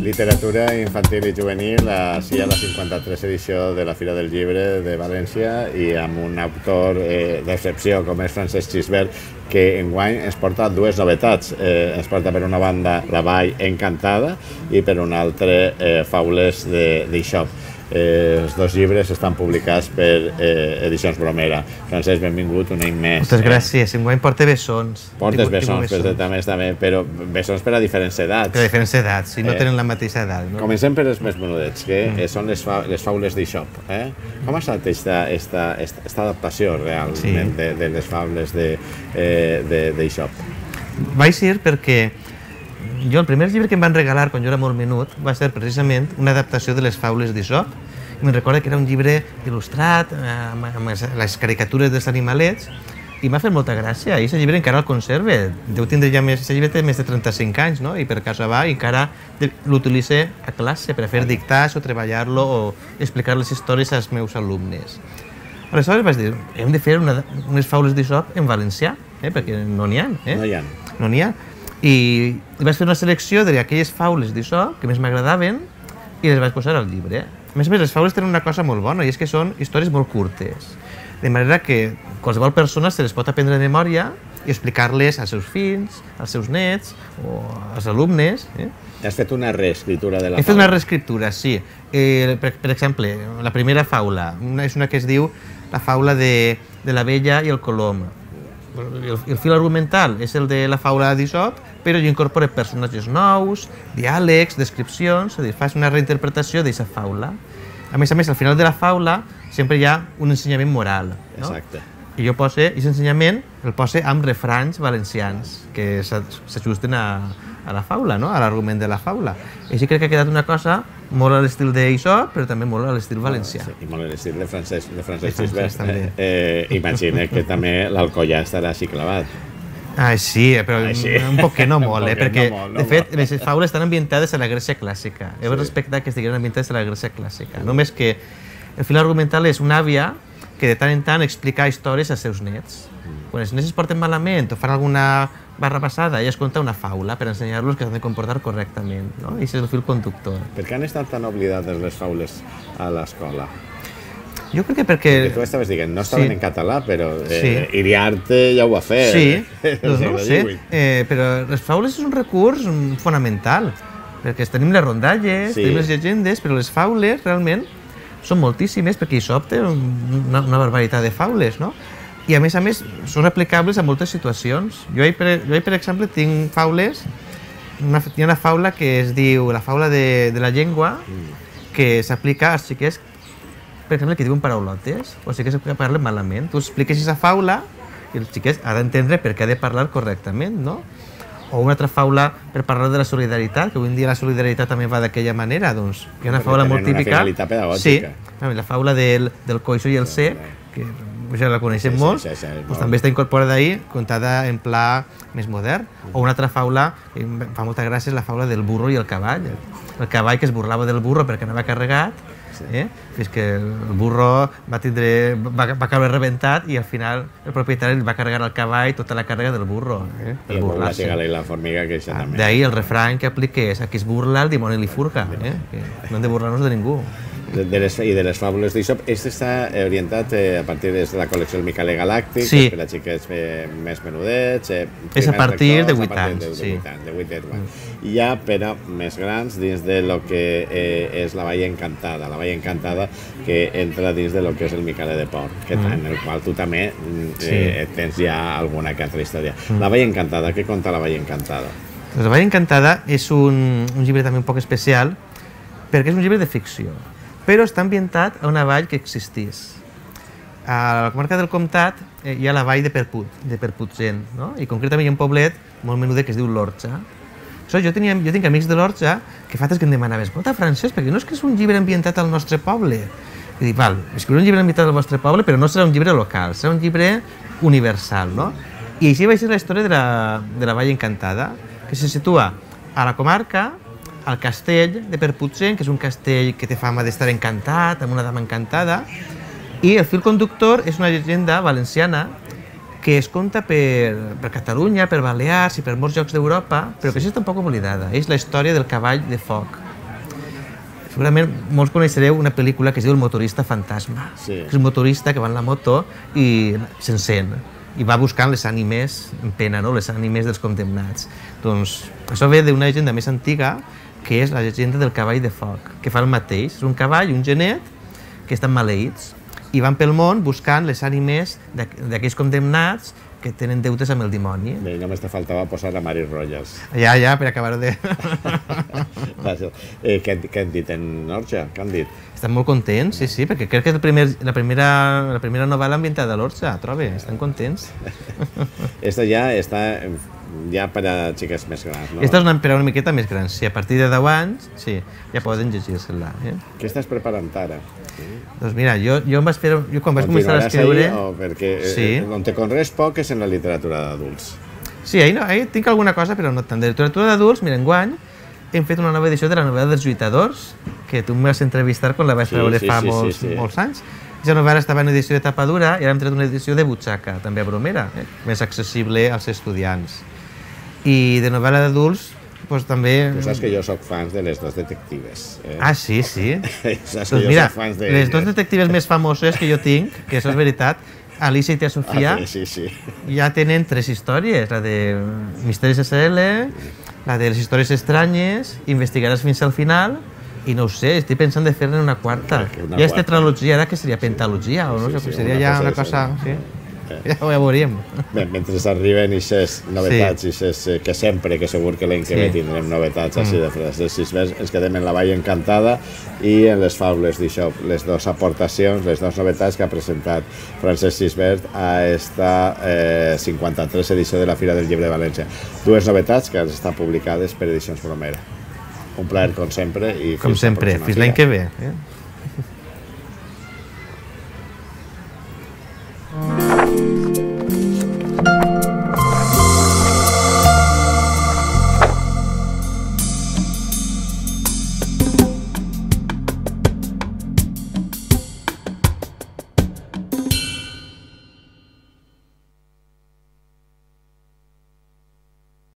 Literatura infantil i juvenil, així a la 53 edició de la Fira del Llibre de València i amb un autor d'excepció com és Francesc Gisbert, que enguany ens porta dues novetats. Ens porta per una banda La Vall Encantada i per una altra Faules d'Aesop. Els dos llibres estan publicats per Edicions Bromera. Francesc, benvingut un any més. Moltes gràcies. Enguany porta bessons. Portes bessons, també, però bessons per a diferents edats. Per a diferents edats, si no tenen la mateixa edat. Comencem per els més menudets, que són les Faules d'Aesop. Com ha estat aquesta adaptació realment de les Faules d'Aesop? Vaig ser perquè el primer llibre que em van regalar quan jo era molt menut va ser precisament una adaptació de les Faules d'Aesop. Me'n recordo que era un llibre il·lustrat amb les caricatures dels animalets i m'ha fet molta gràcia. I aquest llibre encara el conserve. Deu tindre ja més... Aquest llibre té més de 35 anys, no? I per casa va i encara l'utilitzo a classe per a fer dictats o treballar-lo o explicar les històries als meus alumnes. Aleshores vaig dir, hem de fer unes Faules d'Aesop en valencià, perquè no n'hi ha. No n'hi ha. I vaig fer una selecció d'aquelles faules d'Aesop que més m'agradaven i les vaig posar al llibre. A més, les faules tenen una cosa molt bona i és que són històries molt curtes, de manera que qualsevol persona se les pot aprendre de memòria i explicar-les als seus fills, als seus nets o als alumnes. Has fet una reescriptura de la faula? He fet una reescriptura, sí. Per exemple, la primera faula és una que es diu la faula de l'abella i el colom. El fil argumental és el de la faula d'Aesop, però jo incorporo personatges nous, diàlegs, descripcions, és a dir, fas una reinterpretació d'aquesta faula. A més, al final de la faula sempre hi ha un ensenyament moral. Exacte. I jo poso, aquest ensenyament el poso amb refranys valencians que s'ajusten a la faula, a l'argument de la faula. I així crec que ha quedat una cosa molt a l'estil d'Aesop, però també molt a l'estil valencià. I molt a l'estil de Francesc Gisbert. Imagina que també l'Alcoià estarà així clavat. Sí, però un poc que no molt, perquè, de fet, les faules estan ambientades a la Grècia clàssica. Heu de respectar que estiguin ambientades a la Grècia clàssica. Només que el fil argumental és una àvia que de tant en tant explica històries als seus nets. Quan els nets es porten malament o fan alguna barra passada, ella es conta una faula per ensenyar-los que s'han de comportar correctament. I aquest és el fil conductor. Per què han estat tan oblidades les faules a l'escola? Jo crec que perquè... Tu estaves dient, no estaven en català, però Iriarte ja ho va fer. Sí, no ho sé, però les faules és un recurs fonamental, perquè tenim les rondalles, tenim les llegendes, però les faules realment són moltíssimes, perquè Aesop té una barbaritat de faules, no? I a més, són aplicables a moltes situacions. Jo, per exemple, tinc faules, hi ha una faula que es diu la faula de la llengua, que s'aplica als xiquets, per exemple, que diuen paraulotes, o xiquets que parlen malament. Tu expliques aquesta faula i el xiquet ha d'entendre per què ha de parlar correctament, no? O una altra faula per parlar de la solidaritat, que avui en dia la solidaritat també va d'aquella manera, doncs hi ha una faula molt típica. Una finalitat pedagògica. Sí, la faula del coixo i el cec, que ja la coneixem molt, també està incorporada ahir, contada en pla més modern. O una altra faula, que fa molta gràcia, és la faula del burro i el cavall. El cavall que es burlava del burro perquè anava carregat, fins que el burro va caure rebentat i al final el propietari va carregar el cavall tota la càrrega del burro. I el burro, la cigala i la formiga, que això també. D'ahir el refrany que aplica és: a qui es burla, el dimoni li furga. No hem de burlar-nos de ningú. I de les faules d'Aesop, aquest està orientat a partir de la col·lecció del Micaler Galàctic, per a xiquets més menudets. És a partir de 8 anys. De 8 anys. I ja per a més grans dins de lo que és la Vall Encantada. La Vall Encantada que entra dins de lo que és el Micaler de Port, en el qual tu també tens ja alguna que altra història. La Vall Encantada, què conta la Vall Encantada? La Vall Encantada és un llibre també un poc especial perquè és un llibre de ficció, però està ambientat a una vall que existís. A la comarca del Comtat hi ha la vall de Perputxent, i concretament hi ha un poblet molt menudet que es diu l'Orxa. Jo tinc amics de l'Orxa que fa temps que em demanaven: escolta, Francesc, perquè no és que és un llibre ambientat al nostre poble? I dic, val, escriuré un llibre ambientat al vostre poble, però no serà un llibre local, serà un llibre universal, no? I així va ser la història de la Vall Encantada, que se situa a la comarca al castell de Perputxent, que és un castell que té fama d'estar encantat, amb una dama encantada, i el fil conductor és una llegenda valenciana que es conta per Catalunya, per Balears i per molts llocs d'Europa, però que està un poc oblidada. És la història del cavall de foc. Segurament molts coneixereu una pel·lícula que es diu El motorista fantasma. Sí. És un motorista que va en la moto i s'encén i va buscant les ànimes en pena, no? Les ànimes dels condemnats. Doncs això ve d'una llegenda més antiga, que és la llegenda del cavall de foc, que fa el mateix. És un cavall i un genet que estan maleïts i van pel món buscant les ànimes d'aquells condemnats que tenen deutes amb el dimoni. Bé, només te faltava posar a Mari Rojas. Ja, per acabar de... Què han dit en Orxa? Què han dit? Estan molt contents, sí, perquè crec que és la primera novel·la ambientada a l'Orxa, trobo, estan contents. Esta ja està ja per a xiques més grans, no? Esta és per a una miqueta més gran, sí, a partir de 10 anys, sí, ja poden llegir-se-la. Què estàs preparant ara? Doncs mira, jo quan vaig començar a escriure... Perquè sí. On te conreus poc és en la literatura d'adults. Sí, ahí tinc alguna cosa, però no tant. De literatura d'adults, mira, enguany hem fet una nova edició de la novel·la dels lluitadors, que tu em vas entrevistar quan la vaig treure fa molts anys. Aquesta novel·la estava en edició de tapa dura i ara hem tret una edició de butxaca, també a bromera, més accessible als estudiants. I de novel·la d'adults, doncs també... Tu saps que jo soc fans de les dos detectives. Ah, sí? Saps doncs mira, les dos detectives més famoses que jo tinc, que això és veritat, Alicia i Tia Sofia, ja tenen 3 històries, la de Misteris SL, la de les històries estranyes, Investigaràs fins al final, i no ho sé, estic pensant de fer-ne una quarta. Ja és tetralogia, ara que seria pentalogia, o no? Seria ja una cosa... Ja ho veuríem. Bé, mentre arriben aquestes novetats, que sempre, que segur que l'any que ve tindrem novetats així de Francesc Gisbert, ens quedem en La Vall Encantada i en les faules d'això, les dues aportacions, les dues novetats que ha presentat Francesc Gisbert a esta 53 edició de la Fira del Llibre de València. Dues novetats que han estat publicades per Edicions Bromera. Un plaer, com sempre. Com sempre, fins l'any que ve.